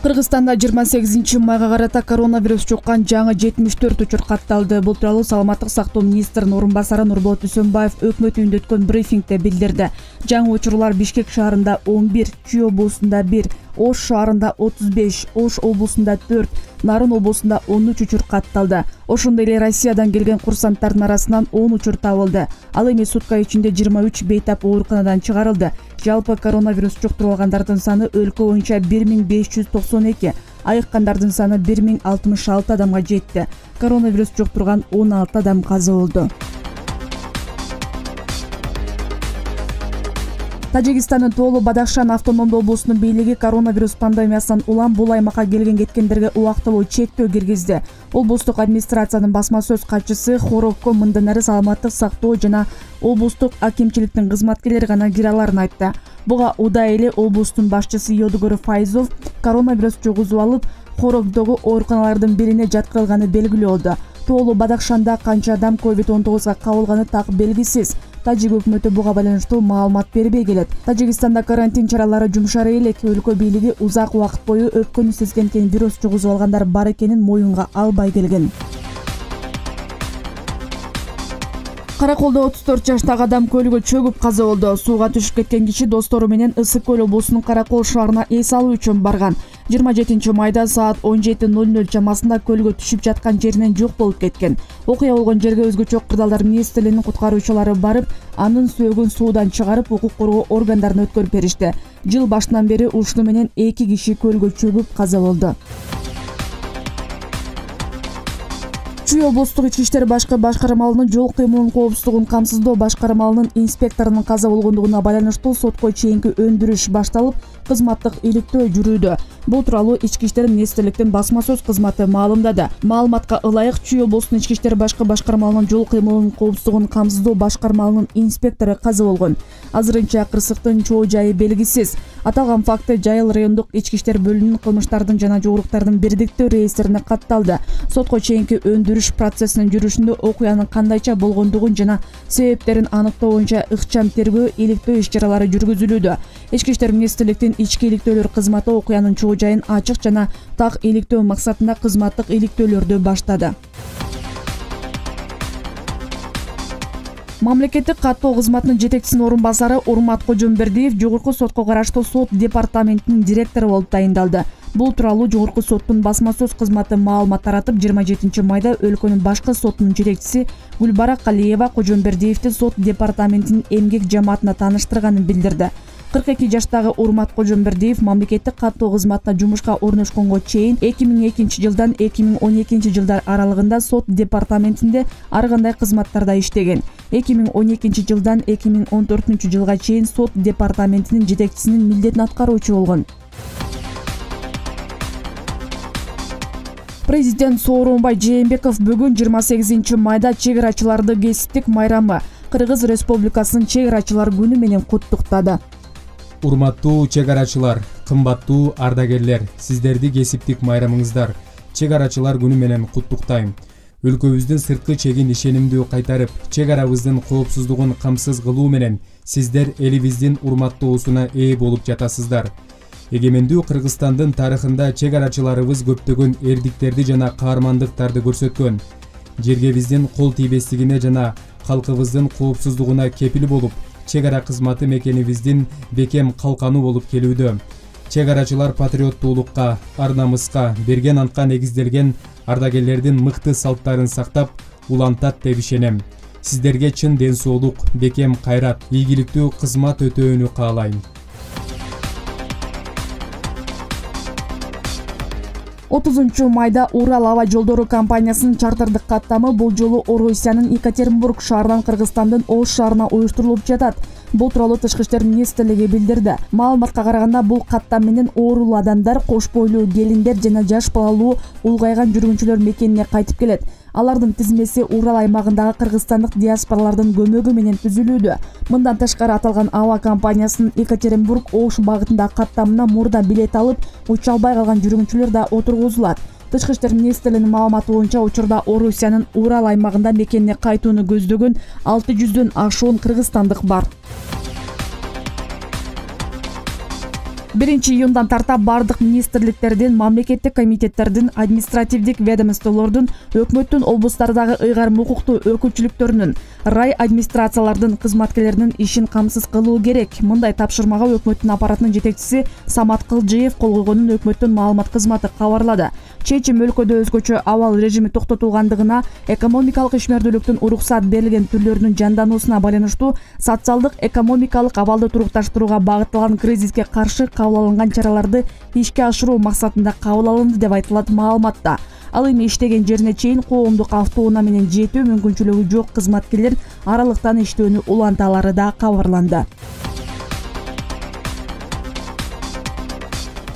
Кыргызстанда 28 майга карата коронавирус жуккан жаңы 74 учур катталды. Бул тууралуу Саламаттык сактоо министринин орун басары Нурболот Дүйсөнбаев өкмөт үйүндө өткөн брифингде билдирди. Жаңы учурлар Бишкек шаарында 11, Чүй облусунда 1, Ош шаарында 35, Ош облусунда 4, Нарын облусунда 13 учур катталды. Ошондой эле Россиядан келген курсанттардын арасынан 10 учур табылды. Ал эми сутка ичинде 23 бейтап ооруканадан чыгарылды. Жалпы коронавирус жуктурулгандардын саны өлкө боюнча 1592, айыккандардын саны 1066 адамга жетти. Коронавирус жуктурган 16 адам каза болду. Тажикстандын Тоолу Бадахшан автономдуу облусунун бийлиги коронавирус пандемиясынан улам бул аймакка келген-кеткендерге убактылуу чектөө киргизди. Облустук администрациянын басма сөз катчысы Хорокко мындан ары саламаттык сактоо жана облустук акимчиликтин кызматкерлери гана кире аларын айтты. Буга удай эле облустун башчысы Йодугур Файзов коронавирус жугузуп алып, Хорокдогу ооруканалардын бирине жаткырылганы белгилүү болду. Тоолу Бадахшанда канча адам COVID-19 кабылганы так белгисиз. Тажик өкмөтү буга байланыштуу маалымат бербей келет. Тажикстанда карантин чаралары жумшары элек, өлкө бийлиги узак убакыт бою өпкөнү сезгенкен вирус жугузуп алгандар бар экенин моюнга албай келген. Караколдо 34 жаштагы адам көлгө чөгүп каза болду. Сууга түшүп кеткен киши достору менен Ысык көл облусунун Каракол шаарына эс алуу үчүн барган. 27 майда саат 17:00 чамасында көлгө түшүп жаткан жеринен жок болуп кеткен. Окуя болгон жерге өзгөчө кырдаалдар министрлигинин куткаруучулары барып, анын сөөгүн суудан чыгарып, укук коргоо органдарына өткөрүп беришти. Жыл башынан бери ушуну менен 2 киши көлгө чөгүп каза болду. Чүй облустук ички иштер башкармалынын жол кыймылынын коопсуздугун камсыздоо башкармалынын инспекторунун каза болгондугуна байланыштуу сотко чейинки өндүрүш башталып, кызматтык иликтөө жүрүүдө. Бул тууралуу ички иштер министрликтин басма сөз кызматы маалымдады. Маалыматка ылайык, Чүй облустунун ички иштер башкармалынын жол кыймылынын коопсуздугун камсыздоо башкармалынын инспектору каза болгон. Азырынча кырсыктын чоо жайы белгисиз. Аталган факты Жайыл райондук ички иштер бөлүмүнүн кылмыштардын жана жоғуртуктардын бирдиктүү реестрине катталды. Сотко чейинки өндүрүш процессинин жүрүшүндө окуянын кандайча болгондугун жана себептерин аныктоо боюнча ыкчам тергөө, иликтөө иш-чаралары жүргүзүлүүдө. Ички иштер министрликтин ички иликтөөлөр кызматы окуянын чоо жайын ачык жана так иликтөө максатында кызматтык иликтөөлөрдү баштады. Мамлекеттик каттоо кызматынын жетекчисинин орун басары Урмат Кожомбердиев жогорку сотко караштуу сот департаментинин директору болуп тайындалды. Бул тууралуу жогорку соттун басма сөз кызматы маалымат таратып, 27 майда өлкөнүн башкы сотунун жетекчиси Гүлбара Калиева Кожомбердиевди сот департаментинин эмгек жамаатына тааныштырганын билдирди. 42 жаштагы Урмат Кожомбердиев мамлекеттик каттоо кызматына жумушка орношконго чейин 2002 жылдан 2012 жылдар аралыгында сот департаментинде ар кандай кызматтарда иштеген. 2012 жылдан 2014 жылга чейин сот департаментинин жетекчисинин милдетин аткаруучу болгон. Президент Сооронбай Жээнбеков бүгүн 28 майда чек арачыларды кесиптик майрамы Кыргыз Республикасынын чек арачылар күнү менен куттуктады. Урматтуу чек арачылар, кымбаттуу ардагерлер, сиздерди кесиптик майрамыңыздар чек арачылар күнү менен куттуктайм. Өлкөбүздүн сырткы чегин ишенимдүү кайтарып, чек арабыздын коопсуздугун камсыз кылуу менен сиздер элибиздин урматтоосуна ээ болуп жатасыздар. Эгемендүү Кыргызстандын тарыхында чек арачыларыбыз көптөгөн эрдиктерди жана каармандыктарды көрсөткөн. Жерге биздин кол тийбестигине жана калкыбыздын коопсуздугуна кепил болуп, чек ара кызматы мекенибиздин бекем калканы болуп келүүдө. Чек арачылар патриоттуулукка, ар намыска берген антка негизделген ардагерлердин мыкты салттарын сактап, улантат деп ишенем. Сиздерге чын ден соолук, бекем кайрат, ийгиликтүү кызмат өтөөнү каалайм. 30 майда Урал аба жолдору компаниясынын чартардык каттамы бул жолу Орусиянын Екатеринбург шаарынан Кыргызстандын Ош шаарына уюштурулуп жатат. Бул тууралуу Тышкы иштер министрлиги билдирди. Маалыматка караганда, бул каттам менен оорулуу адамдар, кош бойлуу келиндер жана жаш балалуу улгайган жүргүнчүлөр мекенине кайтып келет. Алардын тизмеси Урал аймагындагы кыргызстандык диаспоралардын көмөгү менен түзүлүүдө. Мындан тышкары аталган аба компаниясынын Екатеринбург-Ош багытындагы каттамына мурда билет алып, уча албай калган жүргүнчүлөр да отургузулат. Тышкы иштер министрлигинин маалыматы боюнча учурда Орусиянын Урал аймагында мекенине кайтууну көздөгөн 600дөн ашуун кыргызстандык бар. 1-июндан тарта бардык министрликтердин, мамлекеттик комитеттердин, административдик ведомстволордун, өкмөттүн облустардагы ыйгарым укуктуу өкүлчүлүктөрүнүн, рай администрациялардын кызматкерлеринин ишин камсыз кылуу керек. Мындай тапшырмага өкмөттүн аппаратынын жетекчиси Самат Кылжиев кол койгонун өкмөттүн маалымат кызматы кабарлады. Чечим өлкөдө өзгөчө абал режими токтотулгандыгына, экономикалык ишмердүүлүктүн уруксат берилген түрлөрүнүн жандануусуна байланыштуу социалдык экономикалык абалды турукташтырууга багытталган кризиске каршы кабыл алынган чараларды ишке ашыруу максатында кабыл алынды деп айтылат маалыматта. Ал эми иштеген жерине чейин коомдук автоунаа менен жетүү мүмкүнчүлүгү жок кызматкерлер аралыктан иштөөнү улантаалары да кабарланды.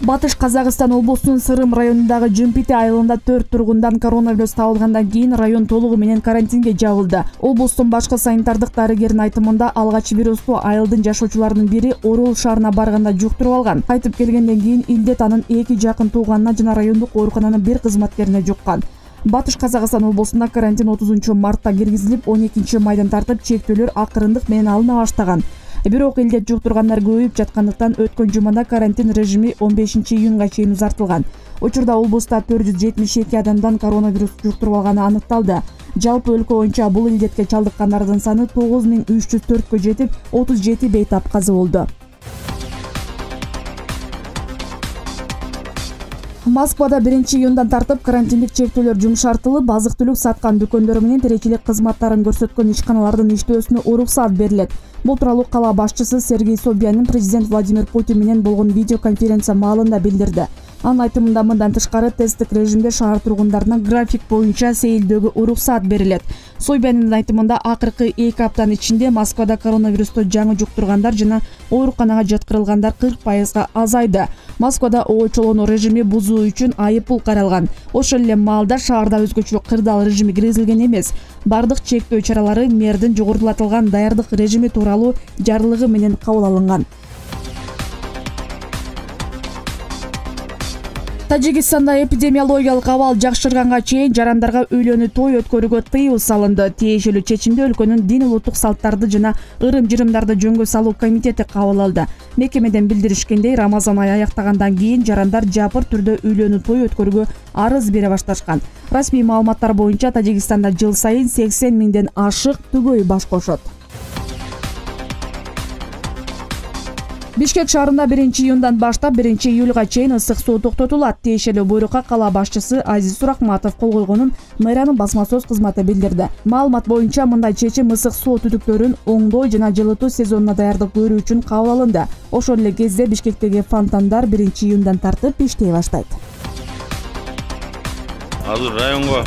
Батыш Казакстан облусунун Сырым районундагы Жымпити айылында 4 тургундан коронавирус табылгандан кийин район толугу менен карантинге жабылды. Облустун башкы санитардык дарыгеринин айтымында алгач вирусту айылдын жашоочуларынын бири Орул шаарына барганда жуктуруп алган. Кайтып келгенден кийин илдет анын 2 жакын тууганына жана райондук оорукананын 1 кызматкерине жуккан. Батыш Казакстан облусунда карантин 30-мартта киргизилип, 12-майдан тартып чектөөлөр акырындык менен алына баштаган. Бирок илдет жуктургандар көбөйүп жаткандыктан өткөн жумада карантин режими 15-июнга чейин узартылган. Учурда облуста 472 адамдан коронавирус жуктуруп алганы аныкталды. Жалпы өлкө боюнча бул илдетке чалдыккандардын саны 9304кө жетип, 37 бейтап каза болду. Москвада 1-июндан тартып карантиндик чектөөлөр жумшартылып, азык-түлүк саткан дүкөндөр менен тиричилик кызматтарын көрсөткөн ишканалардын иштөөсүнө уруксат берилет. Бул тууралуу кала башчысы Сергей Собянин президент Владимир Путин менен болгон видеоконференция маалында билдирди. Анын айтымында мындан тышкары тесттик режимде шаар тургундарына график боюнча сейилдөөгө уруксат берилет. Собяниндин айтымында акыркы 2 аптанын ичинде Москвада коронавирусту жаңы жуктургандар жана ооруканага жаткырылгандар 40% азайды. Москвада очолонуу режими бузуу үчүн айыппул каралган. Ошол эле маалда шаарда өзгөчө кырдаал режими киргизилген эмес. Бардык чектөө чаралары мэрдин жогорулатылган даярдык режими тууралуу жарлыгы менен кабыл алынган. Тажикстанда эпидемиологиялык абал жакшырганга чейин жарандарга үйлөнүү той өткөрүүгө тыюу салынды. Тиешелүү чечимди өлкөнүн дин улуттук салттарды жана ырым-жырымдарды жөнгө салуу комитети кабыл алды. Мекемеден билдиришкендей, Рамазан айы аяктагандан кийин жарандар жапыр түрдө үйлөнүү той өткөрүүгө арыз бере башташкан. Расмий маалыматтар боюнча Тажикстанда жыл сайын 80 миңден ашык түгөй баш кошот. Бишкек шаарында 1-июндан баштап 1-июлга чейин ысык суу токтотулат. Тиешелүү буйрукка кала башчысы Азиз Суракматов кол койгонун мэриянын басма сөз кызматы билдирди. Маалымат боюнча мындай чечим ысык суу түтүктөрүн оңдоо жана жылытуу сезонуна даярдык көрүү үчүн кабыл алынды. Ошол эле кезде Бишкектеги фонтандар 1-июндан тартып иштей баштайт. Азыр районго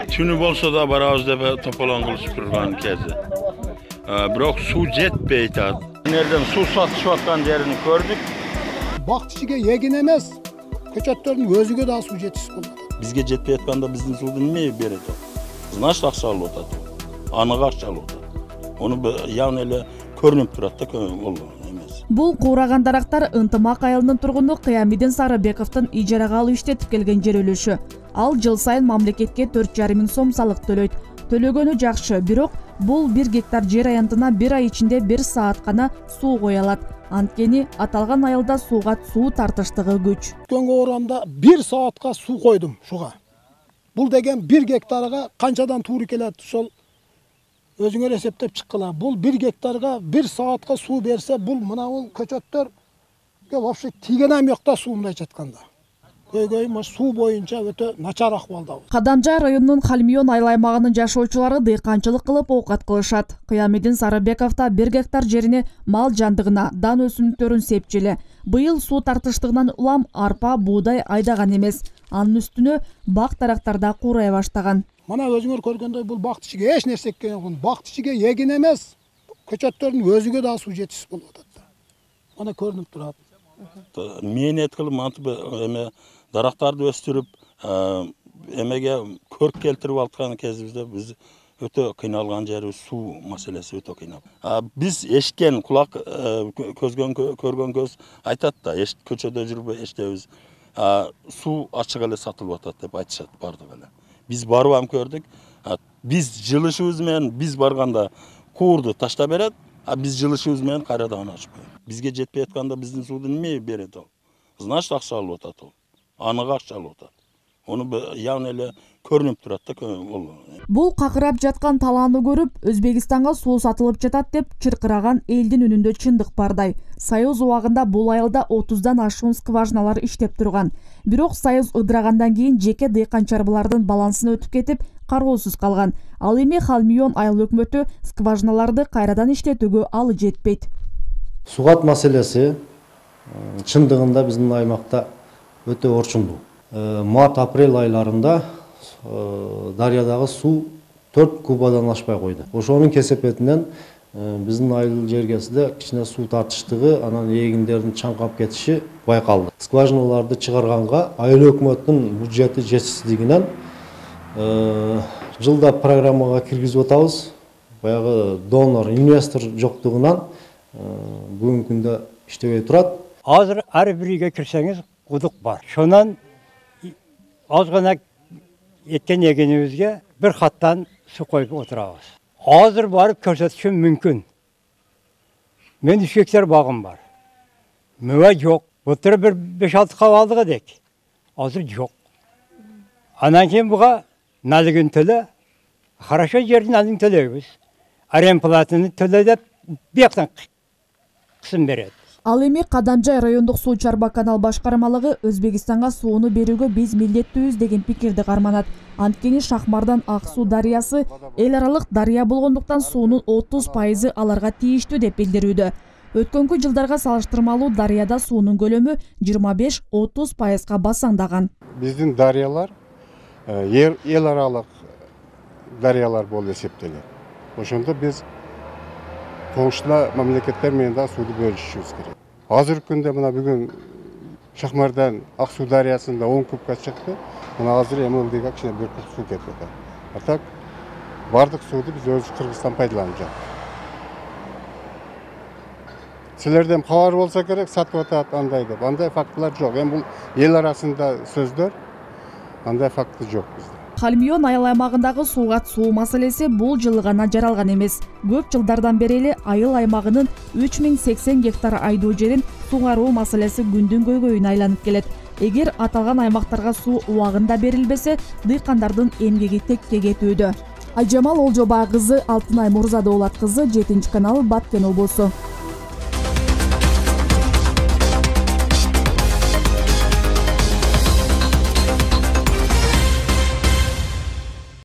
түнү болсо да барабыз деп тополоң кылышып турган кези. Бирок суу жетпей атат. Нерден суу сатышып аткан жерин көрдүк. Бактычыга эгин эмес, көчөттөрдүн өзүгө да суу жетишип болот. Бизге жетпей атканда биздин сууду эмне берет? Значит, акча алып атат. Аныга акча алып атат. Ону яны эле көрүнүп турат да, бул эмес. Бул куураган дарактар Ынтымак айылынын тургуну Кыямидин Сарыбековдун ижарага алып иштетип келген жер үлүшү. Ал жыл сайын мамлекетке 4,5 миң сом салык төлөйт. Төлөгөнү жакшы, бирок бул 1 гектар жер аянтына 1 ай ичинде 1 саат гана суу кое алат. Анткени аталган айылда сууга суу тартыштыгы күч. Өткөнгө орамда 1 саатка суу койдум шуга. Бул деген 1 гектарга канчадан туура келет, ошол өзүңөр эсептеп чыккыла. Бул 1 гектарга 1 саатка суу берсе, бул мына бул көчөттөр вообще тийген эми жокта суу мындай жатканда. Көйгөйүм суу боюнча өтө начар акыбалда. Кадамжай районунун Халмион айыл аймагынын жашоочулары дыйканчылык кылып оокат кылышат. Кыямидин Сарыбековдо 1 гектар жерине мал жандыгына, дан өсүмдүктөрүн сепчиле. Быйыл суу тартыштыгынан улам арпа, буудай айдаган эмес. Анын үстүнө бак дарактарда куурай баштаган. Мына өзүңөр көргөндөй бул бактычыга эч нерсе эккен, бактычыга эгин эмес, көчөттөрдүн өзүгө да суу жетишип болуп атат. Мына көрүнүп турат. Мен эткилип мантип эме дарактарды өстүрүп, эмеге көрк келтирип аткан кезибизде биз өтө кыйналган жери суу маселеси өтө кыйнал. Биз эшкен кулак, көргөн көз айтат да, көчөдө жүрүп эштебиз. Суу ачык эле сатылып атат деп айтышат бардык эле. Биз барып ам көрдүк. Биз жылышыбыз менен биз барганда куурду таштап берет, биз жылышыбыз менен кайрадан ачып коет. бизге жетпей атканда биздин сууду неме берет ал? Значит, акча алып атат ол. Аныга акча алып атат. Onu явно эле көрүнүп турат да ол. Бул какырап жаткан талааны көрүп, Өзбекистанга суу сатылып жатат деп чыркыраган элдин үнүндө чындык бардай. Союз убагында бул айылда 30дан ашуун скважиналар иштеп турган. Бирок Союз ыдырагандан кийин жеке дыйкан чарбалардын балансына өтүп кетип, кароосуз калган. Ал эми Халмион айыл өкмөтү скважиналарды кайрадан иштетүүгө алы жетпейт. Сугат маселеси чындыгында биздин аймакта өтө орчундуу. Март-апрель айларында дарыядагы суу 4 кубадан ашпай койду. Ошонун кесепетинен биздин айыл жергесинде кичине суу тартыштыгы, анан эгиндердин чаңкап кетиши байкалды. Скважиналарды чыгарганга айыл өкмөтүнүн бюджети жетишсиздигинен жылда программага киргизип атабыз. Баягы донор, инвестор жоктугунан бүгүнкү күндө иштебей турат. Азыр ар бириге кирсеңиз кудук бар. Шонан аз гана эткен эгенибизге бир хаттан суу коюп отурабыз. Азыр барып көрсөтүшүм мүмкүн. Мен 3 гектар багым бар. Мөбө жок. Былтыр бир 5-6 кабалдык эдик. Азыр жок. Анан кийин буга налыгын төлө. Хорошо жердин налыгын төлөйбүз. Аренплатаны төлө деп бияктан кысым берет. Ал эми Кадамжай райондук суу чарба канал башкармалыгы Өзбекистанга сууну берүүгө биз милдеттүүбүз деген пикирди карманат. Анткени Шахмардан Ак суу дарыясы эл аралык дарыя болгондуктан суунун 30% аларга тийиштүү деп билдирүүдө. Өткөнкү жылдарга салыштырмалуу дарыяда суунун көлөмү 25-30%га басаңдаган. Биздин дарыялар эл аралык дарыялар болуп эсептелет. Ошондо биз коңшулар мамлекеттер менен да сууду бөлүшүшүбүз керек. Азыркы күндө мына бүгүн Шахмардан Ак суу дарыясында 10 кубка чыкты. Мына азыр МЛДга кичине 1 куб суу кетип атат. А так бардык сууду биз өзүбүз Кыргызстан пайдаланып жатабыз. Силерден кабар болсо керек, сатып атат андай деп. Андай фактылар жок. Эми бул эл арасында сөздөр, андай факты жок бизде. Халмион айыл аймагындагы суугат суу маселеси бул жылы гана жаралган эмес. Көп жылдардан бери эле айыл аймагынын 3080 гектар айдоо жерин сугаруу маселеси күндүн көйгөйүнө айланып келет. Эгер аталган аймактарга суу убагында берилбесе, дыйкандардын эмгеги текке кетүүдө. Айжамал Олжобай кызы, Алтынай Мурзадоолат кызы, 7 канал, Баткен облусу.